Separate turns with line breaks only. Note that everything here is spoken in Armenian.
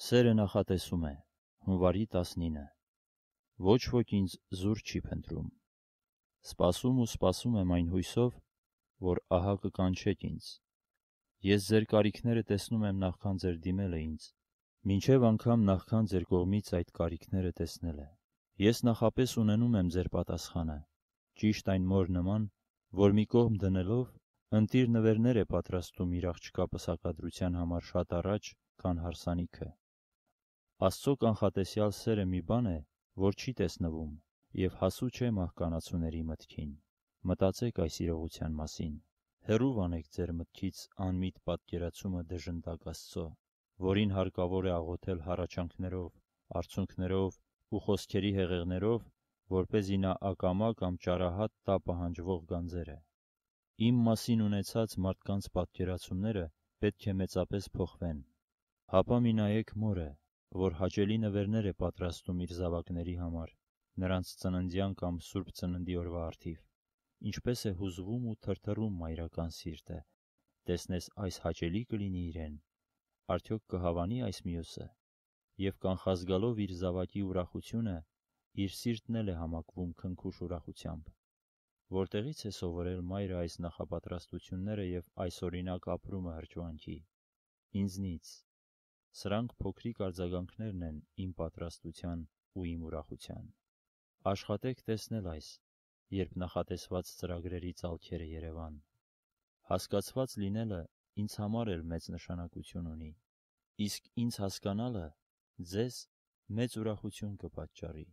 Սերը նախատեսում է, հունվարի 19։ Ոչ ոք ինձ զուր չի փնտրում։ Սպասում ու սպասում եմ այն հույսով, որ ահա կկանչեք ինձ։ Ես ձեր կարիքները տեսնում եմ նախքան ձեր դիմելը ինձ, մինչև անգամ նախքան ձեր կողմից այդ կարիքները տեսնելը։ Ես նախապես ունենում եմ ձեր պատասխանը, ճիշտ այն մոր նման, որ մի կողմ դնելով, ընտիր նվերներ է պատրաստում իր աղջկա պսակադրության համար շատ առաջ, քան հարսանիքը։ Աստծո կանխատեսյալ սերը մի բան է, որ չի տեսնվում և հասու չէ մահկանացուների մտքին։ Մտածեք այս իրողության մասին։ Հեռու վանեք ձեր մտքից անմիտ պատկերացումը դժնդակ Աստծո, որին հարկավոր է աղոթել հառաչանքներով, արցունքներով ու խոսքերի հեղեղներով, որպեսզի նա ակամա կամ ճարահատ տա պահանջվող գանձերը։ Իմ մասին ունեցած մարդկանց պատկերացումները պետք է մեծապես փոխվեն։ Հապա մի նայեք մորը, որ հաճելի նվերներ է պատրաստում իր զավակների համար, նրանց ծննդյան կամ Սուրբ Ծննդի օրվա առթիվ, ինչպես է հուզվում ու թրթռում մայրական սիրտը, տեսնես այս հաճելի կլինի իրեն, արդյոք կհավանի այս մյուսը, և կանխազգալով իր զավակի ուրախությունը, իր սիրտն էլ է համակվում քնքուշ ուրախությամբ։ Որտեղից է սովորել մայրը այս նախապատրաստությունները և այս օրինակ ապրումը հրճվանքի։ Ինձնից։ Սրանք փոքրիկ արձագանքներն են իմ պատրաստության ու իմ ուրախության։ Աշխատեք տեսնել այս, երբ նախատեսված ծրագրերի ծալքերը երևան։ Հասկացված լինելը ինձ համար էլ մեծ նշանակություն ունի, իսկ ինձ հասկանալը ձեզ մեծ ուրախություն կպատճառի։